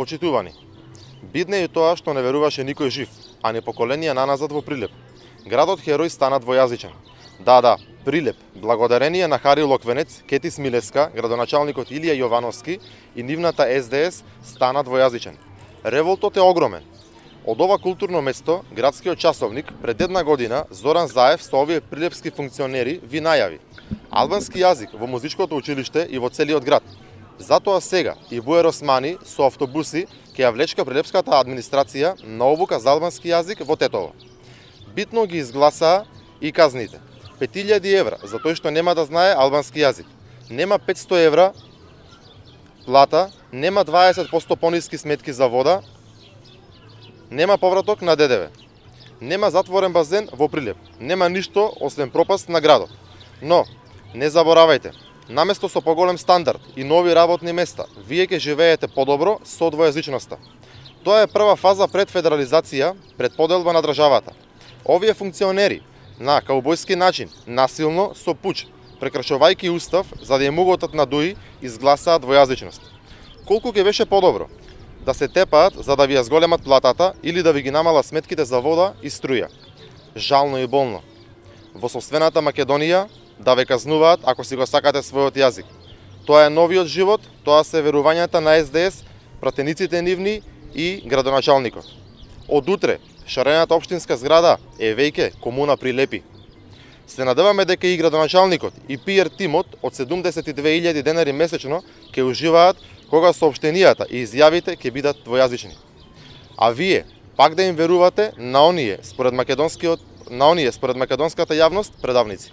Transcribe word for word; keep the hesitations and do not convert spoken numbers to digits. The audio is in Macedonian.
Почитувани, бидне и тоа што не веруваше никој жив, а не поколенија наназад во Прилеп. Градот Херој стана двојазичен. Да, да, Прилеп, благодарение на Хари Локвенец, Кети Смилевска, градоначалникот Илија Јовановски и нивната Ес Де Ес стана двојазичен. Револтот е огромен. Од ова културно место, градскиот часовник пред една година Зоран Заев со овие прилепски функционери ви најави албански јазик во музичкото училиште и во целиот град. Затоа сега и Буер Османи со автобуси ќе ја влечка прилепската администрација на обука за албански јазик во Тетово. Битно ги изгласаа и казните. пет илјади евра за тој што нема да знае албански јазик. Нема петсто евра плата, нема дваесет проценти пониски сметки за вода, нема повраток на Де Де Ве. Нема затворен базен во Прилеп. Нема ништо освен пропаст на градот. Но, не заборавајте, наместо со поголем стандард и нови работни места, вие ќе живеете подобро со двојазичноста. Тоа е прва фаза пред федерализација, пред поделба на државата. Овие функционери на каубојски начин, насилно, со пуч, прекрашувајќи устав, за да ја муготат на Дуи, изгласаа двојазичност. Колку ќе беше подобро да се тепаат за да ви ја зголемат платата или да ви ги намала сметките за вода и струја. Жално и болно. Во сопствената Македонија да ве казнуваат ако си го сакате својот јазик. Тоа е новиот живот, тоа се верувањата на Ес Де Ес, пратениците нивни и градоначалникот. Од утре, шарената општинска зграда е веќе комуна Прилепи. Се надеваме дека и градоначалникот и Пи Ар тимот од седумдесет и две илјади денари месечно ќе уживаат кога соопштенијата и изјавите ќе бидат двојазични. А вие пак да им верувате на оние според македонскиот на оние според македонската јавност предавници.